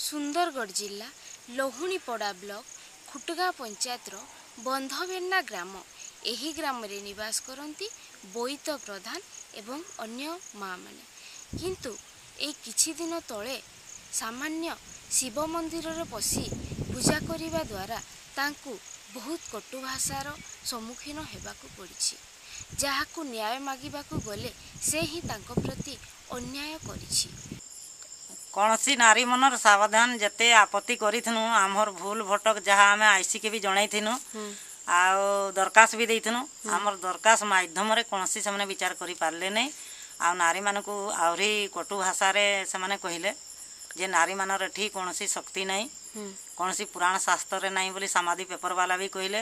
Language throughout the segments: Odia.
ସୁନ୍ଦରଗଡ଼ ଜିଲ୍ଲା ଲହୁଣୀପଡ଼ା ବ୍ଲକ ଖୁଟଗାଁ ପଞ୍ଚାୟତର ବନ୍ଧବେର୍ଣ୍ଣା ଗ୍ରାମ। ଏହି ଗ୍ରାମରେ ନିବାସ କରନ୍ତି ବୋଇତ ପ୍ରଧାନ ଏବଂ ଅନ୍ୟ ମାଆମାନେ। କିନ୍ତୁ ଏଇ କିଛି ଦିନ ତଳେ ସାମାନ୍ୟ ଶିବ ମନ୍ଦିରରେ ପଶି ପୂଜା କରିବା ଦ୍ୱାରା ତାଙ୍କୁ ବହୁତ କଟୁ ଭାଷାର ସମ୍ମୁଖୀନ ହେବାକୁ ପଡ଼ିଛି। ଯାହାକୁ ନ୍ୟାୟ ମାଗିବାକୁ ଗଲେ ସେ ହିଁ ତାଙ୍କ ପ୍ରତି ଅନ୍ୟାୟ କରିଛି। କୌଣସି ନାରୀ ମନର ସାବଧାନ ଯେତେ ଆପତ୍ତି କରିଥିନୁ, ଆମର ଭୁଲ ଭଟକ ଯାହା ଆମେ ଆଇସିକେ ବି ଜଣାଇଥିନୁ ଆଉ ଦରଖାସ୍ତ ବି ଦେଇଥିନୁ, ଆମର ଦରଖାସ୍ତ ମାଧ୍ୟମରେ କୌଣସି ସେମାନେ ବିଚାର କରିପାରିଲେ ନାହିଁ। ଆଉ ନାରୀମାନଙ୍କୁ ଆହୁରି କଟୁ ଭାଷାରେ ସେମାନେ କହିଲେ ଯେ ନାରୀମାନର ଏଠି କୌଣସି ଶକ୍ତି ନାହିଁ, କୌଣସି ପୁରାଣ ଶାସ୍ତ୍ରରେ ନାହିଁ ବୋଲି ସାମାଧି ପେପର ବାଲା ବି କହିଲେ।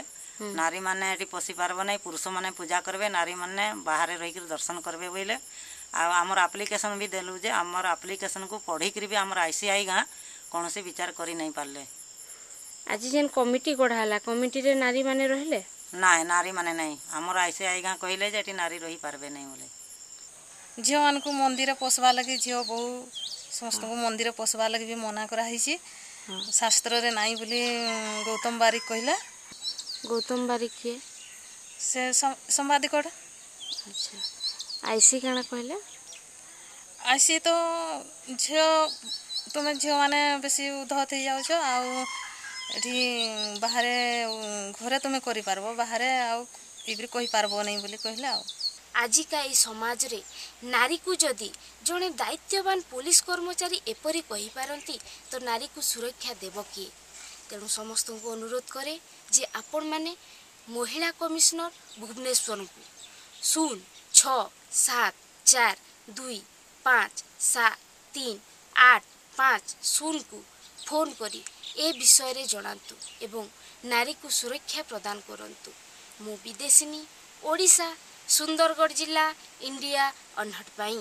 ନାରୀମାନେ ଏଠି ପଶି ପାରିବ ନାହିଁ, ପୁରୁଷମାନେ ପୂଜା କରିବେ, ନାରୀମାନେ ବାହାରେ ରହିକରି ଦର୍ଶନ କରିବେ ବୋଇଲେ। ଆଉ ଆମର ଆପ୍ଲିକେସନ୍ ବି ଦେଲୁ ଯେ ଆମର ଆପ୍ଲିକେସନ୍କୁ ପଢ଼ିକିରି ବି ଆମର ଆଇସିଆଇ ଗାଁ କୌଣସି ବିଚାର କରି ନାଇଁ ପାରିଲେ। ଆଜି ଯେନ୍ କମିଟି ଗଢ଼ା ହେଲା, କମିଟିରେ ନାରୀମାନେ ରହିଲେ? ନାଇଁ, ନାରୀମାନେ ନାଇଁ। ଆମର ଆଇସିଆଇ ଗାଁ କହିଲେ ଯେ ଏଠି ନାରୀ ରହିପାରିବେ ନାହିଁ ବୋଲି। ଝିଅମାନଙ୍କୁ ମନ୍ଦିର ପଶବା ଲାଗି, ଝିଅ ବୋହୂ ସମସ୍ତଙ୍କୁ ମନ୍ଦିର ପଶବା ଲାଗି ବି ମନା କରାହେଇଛି, ଶାସ୍ତ୍ରରେ ନାଇଁ ବୋଲି ଗୌତମ ବାରିକ କହିଲା। ଗୌତମ ବାରିକ କିଏ? ସେ ସମ୍ବାଦିକଟା। ଆଚ୍ଛା, ଆଇସି କାଣା କହିଲେ? ଆଇସି ତ ଝିଅ ତୁମେ ଝିଅମାନେ ବେଶୀ ଉଦ୍ଧତ ହେଇଯାଉଛ, ଆଉ ଏଠି ବାହାରେ ଘରେ ତୁମେ କରିପାରିବ, ବାହାରେ ଆଉ ଏବେ କହିପାରିବ ନାହିଁ ବୋଲି କହିଲେ। ଆଉ ଆଜିକା ଏଇ ସମାଜରେ ନାରୀକୁ ଯଦି ଜଣେ ଦାୟିତ୍ୱବାନ ପୋଲିସ କର୍ମଚାରୀ ଏପରି କହିପାରନ୍ତି, ତ ନାରୀକୁ ସୁରକ୍ଷା ଦେବ କିଏ? ତେଣୁ ସମସ୍ତଙ୍କୁ ଅନୁରୋଧ କରେ ଯେ ଆପଣମାନେ ମହିଳା କମିଶନର ଭୁବନେଶ୍ୱରଙ୍କୁ 0 6 7 4 2 5 7 3 8 5 0କୁ ଫୋନ୍ କରି ଏ ବିଷୟରେ ଜଣାନ୍ତୁ ଏବଂ ନାରୀକୁ ସୁରକ୍ଷା ପ୍ରଦାନ କରନ୍ତୁ। ମୁଁ ବିଦେଶିନୀ, ଓଡ଼ିଶା, ସୁନ୍ଦରଗଡ଼ ଜିଲ୍ଲା, ଇଣ୍ଡିଆ ଅନହଟ୍ ପାଇଁ।